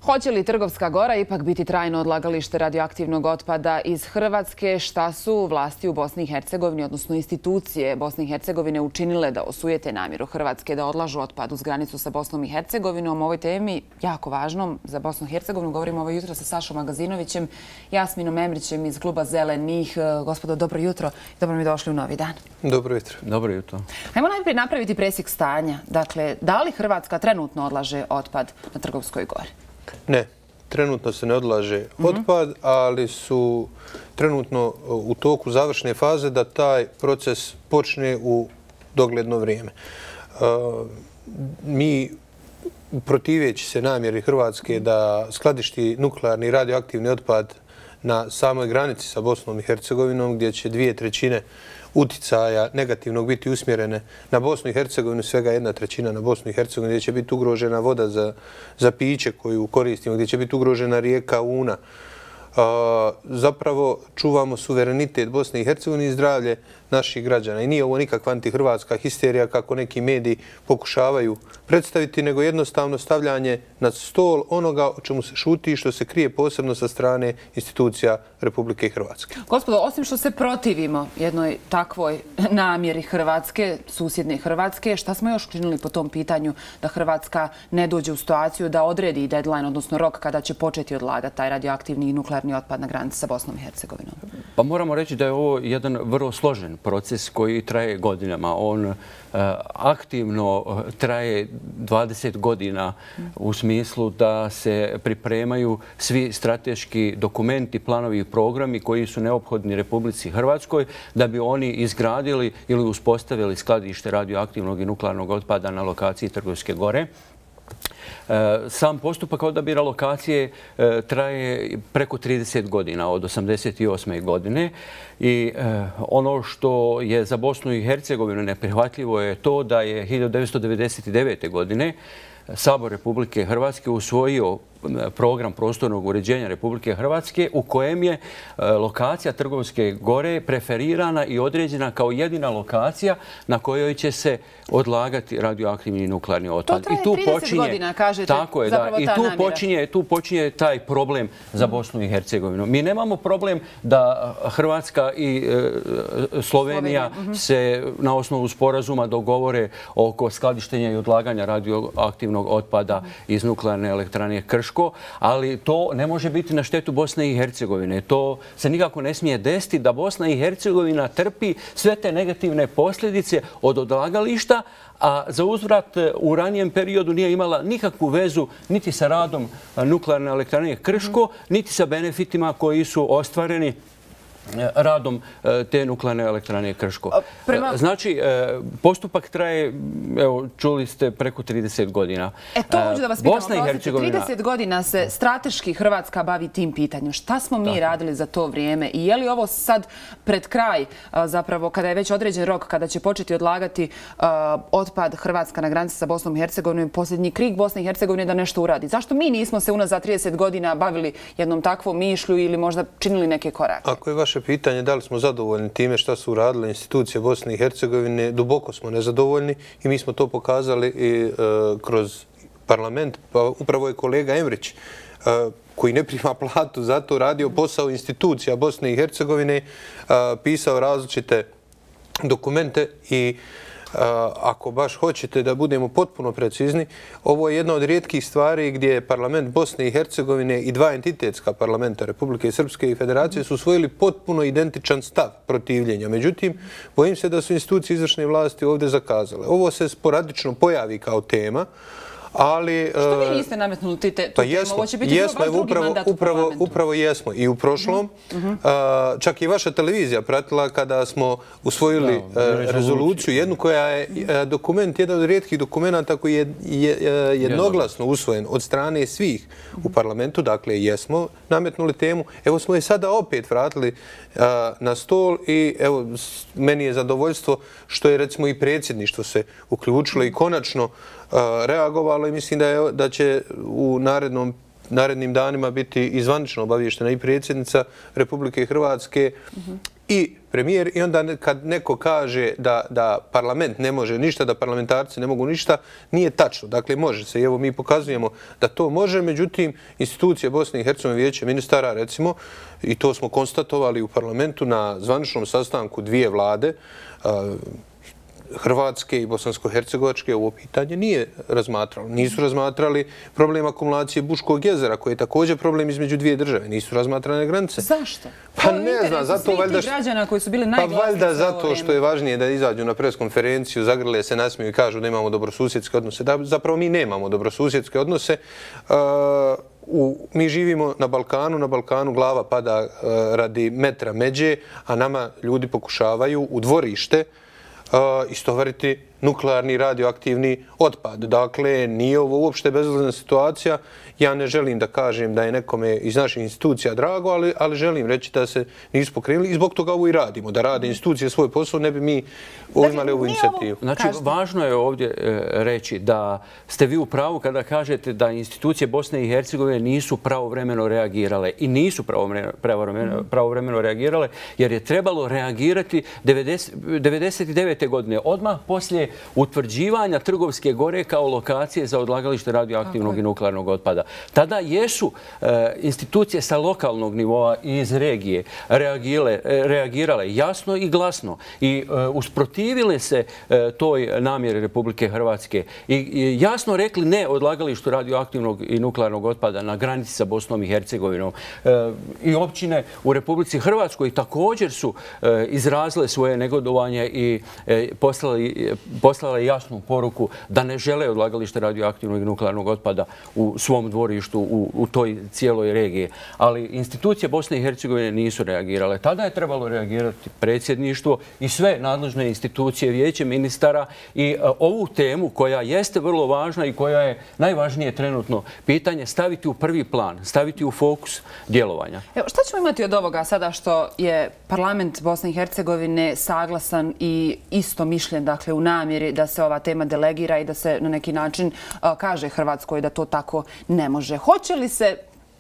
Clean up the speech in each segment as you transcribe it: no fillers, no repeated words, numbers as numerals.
Hoće li Trgovska Gora ipak biti trajno odlagalište radioaktivnog otpada iz Hrvatske? Šta su vlasti u Bosni i Hercegovini, odnosno institucije Bosne i Hercegovine, učinile da osujete namjeru Hrvatske da odlažu otpad uz granicu sa Bosnom i Hercegovinom? O ovoj temi, jako važnom za Bosnu i Hercegovinu, govorimo ovo jutro sa Sašom Magazinovićem, Jasminom Emrićem iz kluba Zelenih. Gospodo, dobro jutro. Dobro mi došli u novi dan. Dobro jutro. Dobro jutro. Ajmo najprije napraviti presjek stanja. Dakle, da li Hrvatska trenutno odlaže otpad na Trgovskoj Gori? Ne, trenutno se ne odlaže otpad, ali su trenutno u toku završne faze da taj proces počne u dogledno vrijeme. Mi, protiveći se namjeri Hrvatske da skladišti nuklearni radioaktivni otpad na samoj granici sa Bosnom i Hercegovinom, gdje će 2/3 uticaja negativnog biti usmjerene na Bosnu i Hercegovinu, svega 1/3 na Bosnu i Hercegovinu, gdje će biti ugrožena voda za piće koju koristimo, gdje će biti ugrožena rijeka Una. Zapravo čuvamo suverenitet Bosne i Hercegovine i zdravlje naših građana. I nije ovo nikakva antihrvatska histerija kako neki mediji pokušavaju predstaviti, nego jednostavno stavljanje na stol onoga o čemu se šuti i što se krije posebno sa strane institucija Republike Hrvatske. Gospodo, osim što se protivimo jednoj takvoj namjeri Hrvatske, susjedne Hrvatske, šta smo još učinili po tom pitanju da Hrvatska ne dođe u situaciju da odredi deadline, odnosno rok kada će početi odlagati taj radioaktivni i nuklearni otpad na granici sa Bosnom i Hercegovinom? Pa moramo reći da je ovo jedan vrlo složen proces koji traje godinama. On aktivno traje 20 godina u smislu da se pripremaju svi strateški dokumenti, planovi i programi koji su neophodni Republici Hrvatskoj da bi oni izgradili ili uspostavili skladište radioaktivnog i nuklearnog otpada na lokaciji Trgovske Gore. Sam postupak odabira lokacije traje preko 30 godina, od 1988. godine. I ono što je za Bosnu i Hercegovinu neprihvatljivo je to da je 1999. godine Sabor Republike Hrvatske usvojio program prostornog uređenja Republike Hrvatske u kojem je lokacija Trgovske Gore preferirana i određena kao jedina lokacija na kojoj će se odlagati radioaktivni i nuklearni otpad. To traje 30 godina, kažete. Tako je, da. I tu počinje taj problem za Bosnu i Hercegovinu. Mi nemamo problem da Hrvatska i Slovenija se na osnovu sporazuma dogovore oko skladištenja i odlaganja radioaktivnog otpada iz nuklearne elektrane Krško, ali to ne može biti na štetu Bosne i Hercegovine. To se nikako ne smije desiti da Bosna i Hercegovina trpi sve te negativne posljedice od odlagališta, a za uzvrat u ranijem periodu nije imala nikakvu vezu niti sa radom nuklearne elektrane Krško, niti sa benefitima koji su ostvareni radom te nuklearne elektrane Krško. Znači, postupak traje, evo, čuli ste, preko 30 godina. To hoću da vas pitam, 30 godina se strateški Hrvatska bavi tim pitanjem. Šta smo mi radili za to vrijeme? I je li ovo sad pred kraj, zapravo, kada je već određen rok, kada će početi odlagati otpad Hrvatska na granici sa Bosnom i Hercegovinom, posljednji krik Bosne i Hercegovine da nešto uradi? Zašto mi nismo se unazad 30 godina bavili jednom takvom mišlju ili možda činili neke korake? Ako je vaše pitanje da li smo zadovoljni time šta su uradile institucije Bosne i Hercegovine, duboko smo nezadovoljni i mi smo to pokazali i kroz parlament. Pa upravo je kolega Emrić, koji ne prima platu za to, radio posao institucija Bosne i Hercegovine, pisao različite dokumente i ako baš hoćete da budemo potpuno precizni, ovo je jedna od rijetkih stvari gdje parlament Bosne i Hercegovine i dva entitetska parlamenta Republike Srpske i Federacije su usvojili potpuno identičan stav protivljenja. Međutim, bojim se da su institucije izvršne vlasti ovdje zakazale. Ovo se sporadično pojavi kao tema, ali... Što vi niste nametnuli tu temu? Ovo će biti baš drugi mandat u parlamentu. Upravo jesmo. I u prošlom, čak i vaša televizija pratila kada smo usvojili rezoluciju, jednu koja je dokument, jedan od rijetkih dokumenta koji je jednoglasno usvojen od strane svih u parlamentu. Dakle, jesmo nametnuli temu. Evo smo je sada opet vratili na stol i evo, meni je zadovoljstvo što je recimo i predsjedništvo se uključilo i konačno reagovalo i mislim da će u narednim danima biti i zvanično obavještena i predsjednica Republike Hrvatske i premijer, i onda kad neko kaže da parlament ne može ništa, da parlamentarci ne mogu ništa, nije tačno. Dakle, može se. I evo mi pokazujemo da to može, međutim, institucije Bosne i Hercegovine, Vijeće ministara, recimo, i to smo konstatovali u parlamentu na zvaničnom sastanku dvije vlade, Hrvatske i Bosansko-Hercegovačke, ovo pitanje nije razmatralo. Nisu razmatrali problem akumulacije Buškog jezera, koji je također problem između dvije države. Nisu razmatrane granice. Zašto? Pa ne znam, zato valjda... građana koji su bili najglasniji. Pa valjda zato što je važnije da izađu na preskonferenciju, zagrle se, nasmiju i kažu da imamo dobrosusjedske odnose. Zapravo mi nemamo dobrosusjedske odnose. Mi živimo na Balkanu glava pada radi metra međe, a nama ljudi pokušavaju u dvorište istovariti nuklearni radioaktivni otpad. Dakle, nije ovo uopšte bezazlena situacija. Ja ne želim da kažem da je nekome iz naših institucija drago, ali želim reći da se nisu pokrenuli i zbog toga ovo i radimo. Da rade institucije svoj posao, ne bi mi imali ovu inicijativu. Znači, važno je ovdje reći da ste vi u pravu kada kažete da institucije Bosne i Hercegovine nisu pravovremeno reagirale i nisu pravovremeno reagirale jer je trebalo reagirati 1999. godine, odmah poslije utvrđivanja Trgovske gore kao lokacije za odlagalište radioaktivnog i nuklearnog otpada. Tada jesu institucije sa lokalnog nivoa i iz regije reagirale jasno i glasno i usprotivile se toj namjeri Republike Hrvatske i jasno rekli ne odlagalištu radioaktivnog i nuklearnog otpada na granici sa Bosnom i Hercegovinom. I općine u Republici Hrvatskoj također su izrazile svoje negodovanje i poslale jasnu poruku da ne žele odlagalište radioaktivnog i nuklearnog otpada u svom dvorištu u toj cijeloj regiji. Ali institucije Bosne i Hercegovine nisu reagirale. Tada je trebalo reagirati predsjedništvo i sve nadležne institucije, Vijeće ministara i ovu temu koja jeste vrlo važna i koja je najvažnije trenutno pitanje staviti u prvi plan, staviti u fokus djelovanja. Evo, šta ćemo imati od ovoga sada što je parlament Bosne i Hercegovine saglasan i isto mišljen, dakle, u namjeri da se ova tema delegira i da se na neki način kaže Hrvatskoj da to tako ne može. Hoće li se,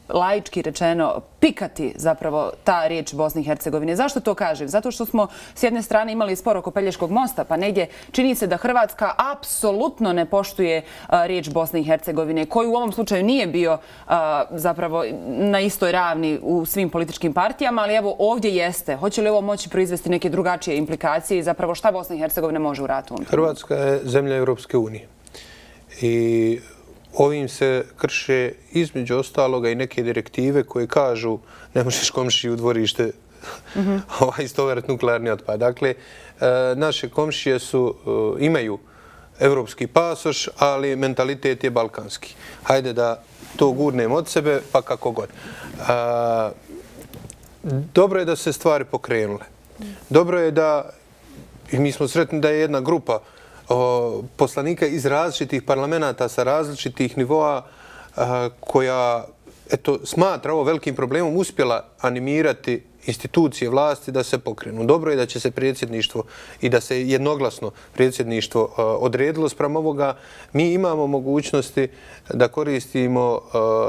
laički rečeno, pikati zapravo ta riječ Bosne i Hercegovine? Zašto to kažem? Zato što smo s jedne strane imali spor oko Pelješkog mosta, pa negdje čini se da Hrvatska apsolutno ne poštuje riječ Bosne i Hercegovine, koji u ovom slučaju nije bio zapravo na istoj ravni u svim političkim partijama, ali evo ovdje jeste. Hoće li ovo moći proizvesti neke drugačije implikacije i zapravo šta Bosna i Hercegovina može uraditi? Hrvatska je zemlja Europske unije i ovim se krše između ostaloga i neke direktive koje kažu ne možeš komšiji u dvorište istovariti nuklearni otpad. Dakle, naše komšije imaju evropski pasoš, ali mentalitet je balkanski. Hajde da to gurnem od sebe, pa kako god. Dobro je da se stvari pokrenule. Dobro je da, i mi smo sretni da je jedna grupa poslanika iz različitih parlamenta sa različitih nivoa koja smatra ovo velikim problemom uspjela animirati institucije vlasti da se pokrenu. Dobro je da će se predsjedništvo i da se jednoglasno predsjedništvo odredilo spram ovoga. Mi imamo mogućnosti da koristimo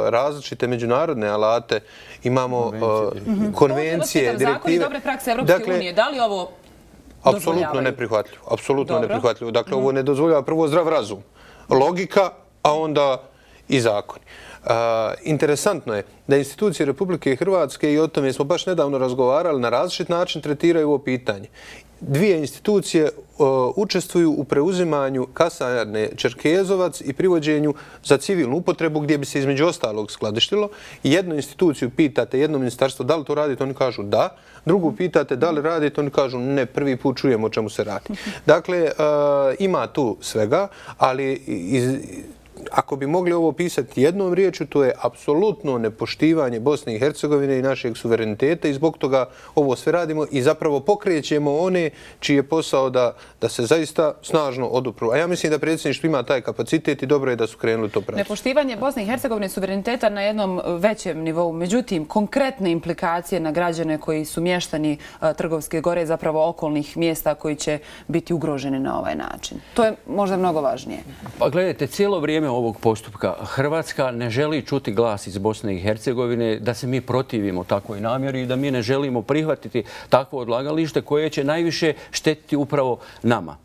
različite međunarodne alate, imamo konvencije, direktive. Zakoni dobre prakse Evropske unije, da li ovo apsolutno neprihvatljivo. Apsolutno neprihvatljivo. Dakle, ovo ne dozvoljava prvo zdrav razum. Logika, a onda i zakoni. Interesantno je da institucije Republike Hrvatske, i o tome smo baš nedavno razgovarali, na različit način tretiraju ovo pitanje. Dvije institucije učestvuju u preuzimanju kasarne Čerkezovac i privođenju za civilnu upotrebu gdje bi se između ostalog skladištilo. Jednu instituciju pitate, jedno ministarstvo, da li to radite, oni kažu da. Drugu pitate da li radite, oni kažu ne, prvi put čujemo o čemu se radi. Dakle, ima tu svega, ali ako bi mogli ovo pisati jednom riječju, to je apsolutno nepoštivanje Bosne i Hercegovine i našeg suvereniteta i zbog toga ovo sve radimo i zapravo pokrećemo one čiji je posao da se zaista snažno odupru. A ja mislim da predsjedništvo ima taj kapacitet i dobro je da su krenuli to praviti. Nepoštivanje Bosne i Hercegovine suvereniteta na jednom većem nivou. Međutim, konkretne implikacije na građane koji su mještani Trgovske gore, zapravo okolnih mjesta koji će biti ugroženi na ovaj način. To je možda mnogo važnije. Pa gledajte, cijelo vrijeme vrijeme ovog postupka Hrvatska ne želi čuti glas iz Bosne i Hercegovine da se mi protivimo takvoj namjeri i da mi ne želimo prihvatiti takvo odlagalište koje će najviše štetiti upravo nama.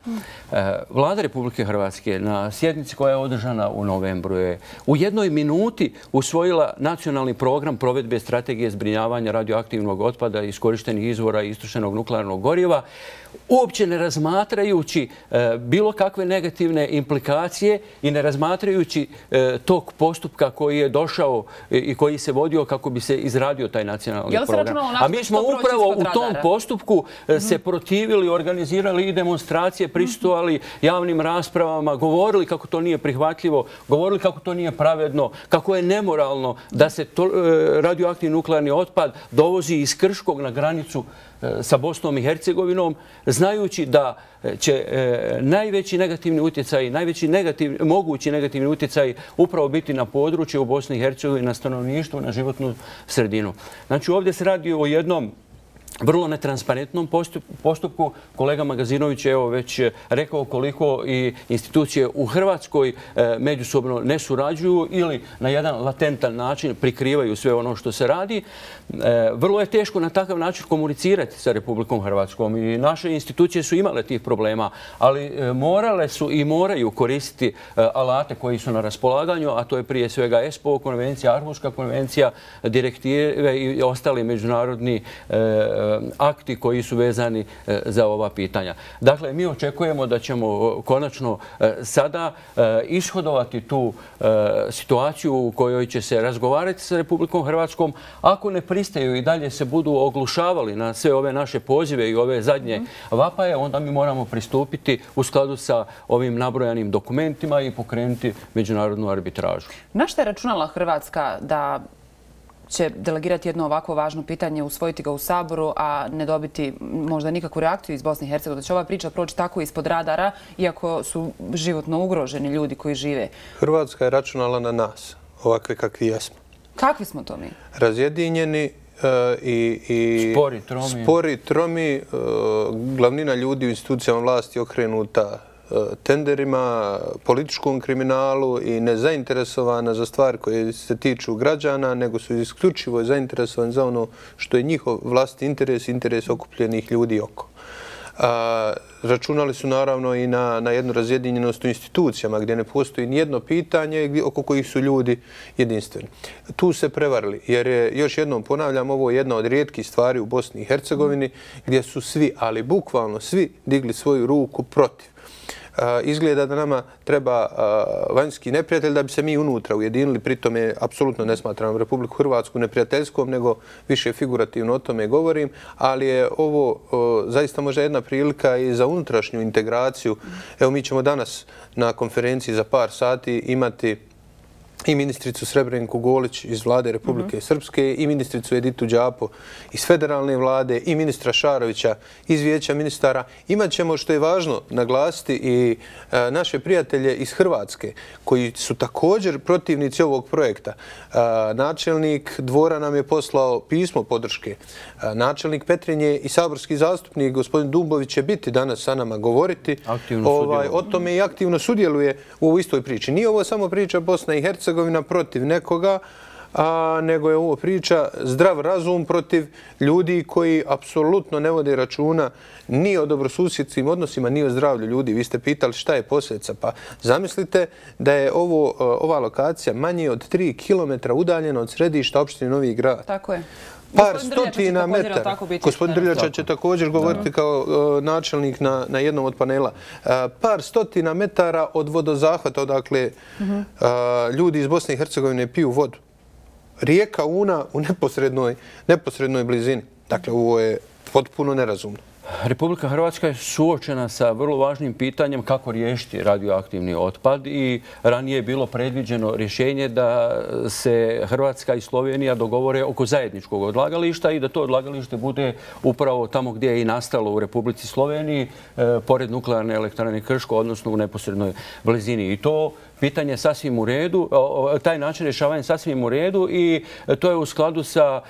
Vlada Republike Hrvatske na sjednici koja je održana u novembru je u jednoj minuti usvojila nacionalni program provedbe strategije zbrinjavanja radioaktivnog otpada, iskorištenih izvora i istrošenog nuklearnog goriva, uopće ne razmatrajući bilo kakve negativne implikacije i ne razmatrajući tog postupka koji je došao i koji se vodio kako bi se izradio taj nacionalni program. A mi smo upravo u tom postupku se protivili, organizirali i demonstracije, prisustvovali javnim raspravama, govorili kako to nije prihvatljivo, govorili kako to nije pravedno, kako je nemoralno da se radioaktivni nuklearni otpad dovozi iz Krškog na granicu sa Bosnom i Hercegovinom, znajući da će najveći negativni utjecaj, najveći mogući negativni utjecaj upravo biti na područje u Bosni i Hercegovini, na stanovništvo, na životnu sredinu. Znači ovdje se radi o jednom vrlo netransparentnom postupku. Kolega Magazinović je evo već rekao koliko i institucije u Hrvatskoj međusobno ne surađuju ili na jedan latentan način prikrivaju sve ono što se radi. Vrlo je teško na takav način komunicirati sa Republikom Hrvatskom i naše institucije su imale tih problema, ali morale su i moraju koristiti alate koji su na raspolaganju, a to je prije svega ESPO konvencija, Arhuška konvencija, direktive i ostali međunarodni akti koji su vezani za ova pitanja. Dakle, mi očekujemo da ćemo konačno sada ishodovati tu situaciju u kojoj će se razgovarati sa Republikom Hrvatskom. Ako ne pristaju i dalje se budu oglušavali na sve ove naše pozive i ove zadnje vapaje, onda mi moramo pristupiti u skladu sa ovim nabrojanim dokumentima i pokrenuti međunarodnu arbitražu. Na što je računala Hrvatska da će delegirati jedno ovako važno pitanje, usvojiti ga u Saboru, a ne dobiti možda nikakvu reakciju iz Bosne i Hercegovine? Da će ova priča proći tako ispod radara, iako su životno ugroženi ljudi koji žive? Hrvatska je računala na nas, ovakve kakvi jesmo. Kakvi smo to mi? Razjedinjeni i spori, tromi, glavnina ljudi u institucijama vlasti okrenuta tenderima, političkom kriminalu i nezainteresovana za stvari koje se tiču građana, nego su isključivo zainteresovani za ono što je njihov vlastni interes, interes okupljenih ljudi oko. Računali su naravno i na jednu razjedinjenost u institucijama gdje ne postoji nijedno pitanje oko kojih su ljudi jedinstveni. Tu se prevarili jer je, još jednom ponavljam, ovo je jedna od rijetkih stvari u Bosni i Hercegovini gdje su svi, ali bukvalno svi, digli svoju ruku protiv. Izgleda da nama treba vanjski neprijatelj da bi se mi unutra ujedinili, pritom je apsolutno ne smatram Republiku Hrvatsku neprijateljskom, nego više figurativno o tome govorim, ali je ovo zaista možda jedna prilika i za unutrašnju integraciju. Evo, mi ćemo danas na konferenciji za par sati imati i ministricu Srebrenku Golić iz vlade Republike Srpske i ministricu Editu Đapo iz federalne vlade i ministra Šarovića iz vijeća ministara. Imaćemo, što je važno naglasiti, i naše prijatelje iz Hrvatske koji su također protivnici ovog projekta. Načelnik Dvora nam je poslao pismo podrške. Načelnik Petrinje i saborski zastupnik gospodin Dumbović će biti danas sa nama govoriti o tome i aktivno sudjeluje u ovoj istoj priči. Nije ovo samo priča Bosna i Hercegovina protiv nekoga, nego je ovo priča zdrav razum protiv ljudi koji apsolutno ne vode računa ni o dobrosusjedskim odnosima, ni o zdravlju ljudi. Vi ste pitali šta je posljedica. Pa zamislite da je ova lokacija manje od 3 kilometra udaljena od središta opštine Novi Grad. Tako je. Par stotina metara. Gospodin Drljača će također govoriti kao načelnik na jednom od panela. Par stotina metara od vodozahvata, odakle ljudi iz Bosne i Hercegovine piju vodu. Rijeka Una u neposrednoj blizini. Dakle, ovo je potpuno nerazumno. Republika Hrvatska je suočena sa vrlo važnim pitanjem kako riješiti radioaktivni otpad i ranije je bilo predviđeno rješenje da se Hrvatska i Slovenija dogovore oko zajedničkog odlagališta i da to odlagalište bude upravo tamo gdje je i nastalo u Republici Sloveniji, pored nuklearne elektrane Krško, odnosno u neposrednoj blizini. I to pitanje sasvim u redu, taj način rješavanja sasvim u redu i to je u skladu sa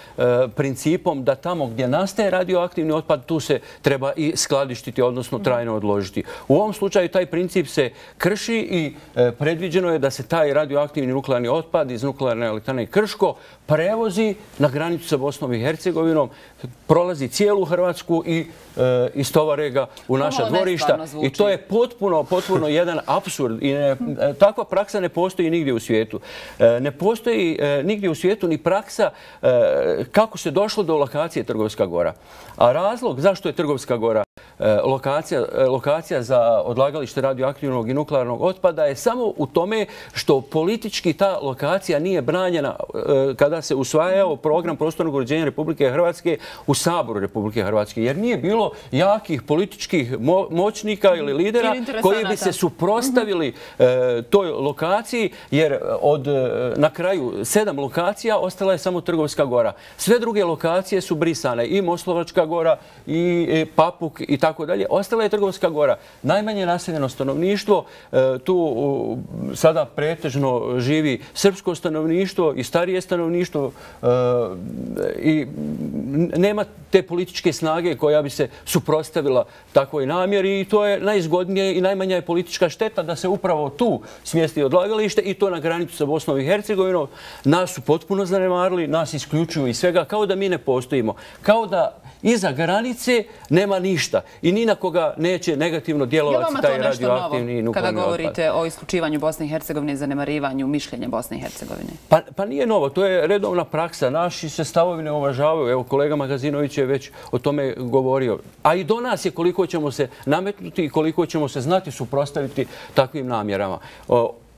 principom da tamo gdje nastaje radioaktivni otpad, tu se treba i skladištiti, odnosno trajno odložiti. U ovom slučaju taj princip se krši i predviđeno je da se taj radioaktivni nuklearni otpad iz nuklearne elektrane Krško prevozi na granicu sa Bosnom i Hercegovinom, prolazi cijelu Hrvatsku i istovare ga u naša dvorišta. I to je potpuno jedan apsurd. Takva praksa ne postoji nigdje u svijetu. Ne postoji nigdje u svijetu ni praksa kako se došlo do lokacije Trgovska Gora. A razlog zašto je Trgovska Gora lokacija za odlagalište radioaktivnog i nuklearnog otpada je samo u tome što politički ta lokacija nije branjena kada se usvajao program prostornog uređenja Republike Hrvatske u Saboru Republike Hrvatske. Jer nije bilo jakih političkih moćnika ili lidera koji bi se suprotstavili toj lokaciji, jer na kraju 7 lokacija ostala je samo Trgovska Gora. Sve druge lokacije su brisane, i Moslovačka Gora, i Papuk i tako dalje. Ostala je Trgovska Gora. Najmanje naseljeno stanovništvo, tu sada pretežno živi srpsko stanovništvo i starije stanovništvo i nema te političke snage koja bi se suprotstavila takvoj namjeri i to je najzgodnije i najmanja je politička šteta da se upravo tu smjesti odlagalište i to na granicu sa Bosnom i Hercegovinom. Nas su potpuno zanemarili, nas isključuju iz svega, kao da mi ne postojimo. Kao da iza granice nema ništa i ni na koga neće negativno djelovati taj radioaktivni nuklearni otpad. Kada govorite o isključivanju Bosne i Hercegovine i zanemarivanju mišljenja Bosne i Hercegovine? Pa nije novo, to je redovna praksa. Naši se stavovi ne uvažavaju. Evo, kolega Magazinović je već o tome govorio. A i do nas je koliko ćemo se nametnuti i koliko ćemo se znati suprotstaviti takvim namjerama.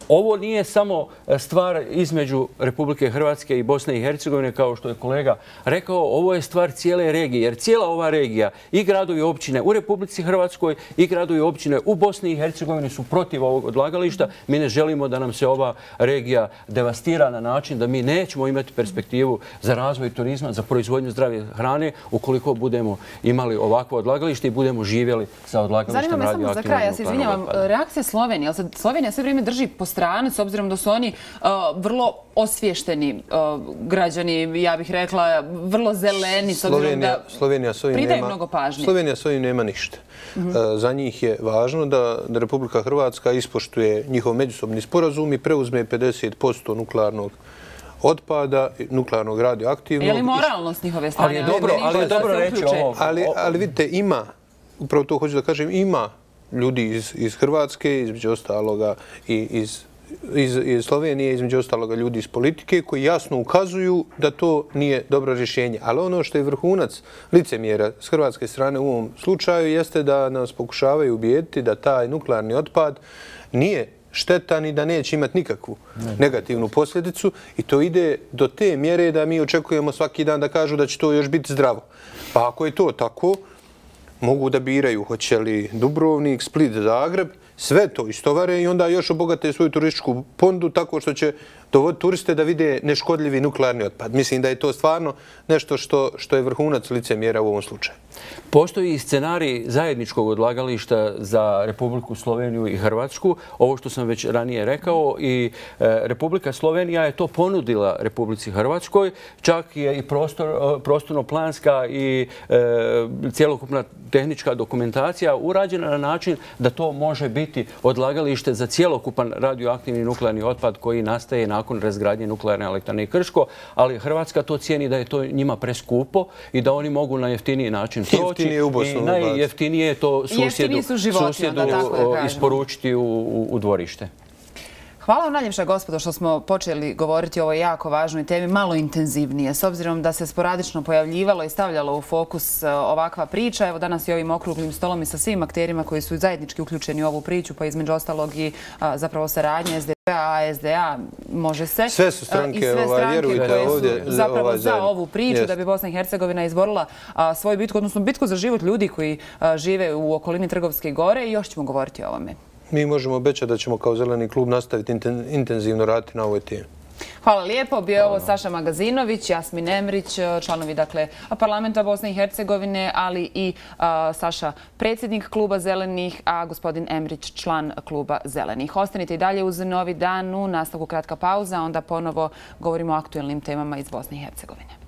Ovo nije samo stvar između Republike Hrvatske i Bosne i Hercegovine, kao što je kolega rekao, ovo je stvar cijele regije, jer cijela ova regija i gradovi i općine u Republici Hrvatskoj i gradovi i općine u Bosni i Hercegovini su protiv ovog odlagališta. Mi ne želimo da nam se ova regija devastira na način da mi nećemo imati perspektivu za razvoj turizma, za proizvodnju zdrave hrane, ukoliko budemo imali ovakvo odlagalište i budemo živjeli sa odlagalištem radioaktivnog nuklearnog otpada. Zanima me samo za kraj, ja se izvinjavam, reakcija Slovenije. Slovenija sve vrijeme drži po strani, s obzirom da su oni vrlo osvješteni građani, ja bih rekla, vrlo zeleni, s obzirom da pridaju mnogo pažnje. Slovenija s ovim nema ništa. Za njih je važno da Republika Hrvatska ispoštuje njihov međusobni sporazum i preuzme 50% nuklearnog otpada, nuklearnog radioaktivnog. Je li moralno s njihove strane? Ali je dobro reći ovo. Ali vidite, ima, upravo to hoću da kažem, ima ljudi iz Hrvatske, između ostaloga i iz Slovenije, između ostaloga ljudi iz politike, koji jasno ukazuju da to nije dobro rješenje. Ali ono što je vrhunac licemjera s hrvatske strane u ovom slučaju jeste da nas pokušavaju ubijediti da taj nuklearni otpad nije štetan i da neće imati nikakvu negativnu posljedicu i to ide do te mjere da mi očekujemo svaki dan da kažu da će to još biti zdravo. Pa ako je to tako, mogu da biraju hoće li Dubrovnik, Split, Zagreb, sve to istovare i onda još obogate svoju turističku ponudu tako što će dovoditi turiste da vide neškodljivi nuklearni otpad. Mislim da je to stvarno nešto što je vrhunac licemjera u ovom slučaju. Postoji i scenarij zajedničkog odlagališta za Republiku Sloveniju i Hrvatsku. Ovo što sam već ranije rekao i Republika Slovenija je to ponudila Republici Hrvatskoj. Čak je i prostorno-planska i cjelokupna tehnička dokumentacija urađena na način da to može biti odlagalište za cjelokupan radioaktivni nuklearni otpad koji nastaje nakon razgradnje nuklearne elektrane Krško, ali Hrvatska to cijeni da je to njima preskupo i da oni mogu na jeftiniji način proći i najjeftinije je to susjedu isporučiti u dvorište. Hvala vam najljepša, gospodo, što smo počeli govoriti o ovoj jako važnoj temi, malo intenzivnije, s obzirom da se sporadično pojavljivalo i stavljalo u fokus ovakva priča. Evo danas i ovim okruglim stolom i sa svim akterima koji su zajednički uključeni u ovu priču, pa između ostalog i zapravo saradnje SDP-a, SDA, može se. Sve su stranke, vjerujte, ovdje zapravo za ovu priču da bi Bosna i Hercegovina izborila svoju bitku, odnosno bitku za život ljudi koji žive u okolini Trgovske gore i još ćemo govoriti o ovome. Mi možemo obećati da ćemo kao Zeleni klub nastaviti intenzivno raditi na ovoj temi. Hvala lijepo. Bio je ovo Saša Magazinović, Jasmin Emrić, članovi dakle parlamenta Bosne i Hercegovine, ali i Saša predsjednik kluba Zelenih, a gospodin Emrić član kluba Zelenih. Ostanite i dalje uz Novi dan, u nastavku kratka pauza, onda ponovo govorimo o aktuelnim temama iz Bosne i Hercegovine.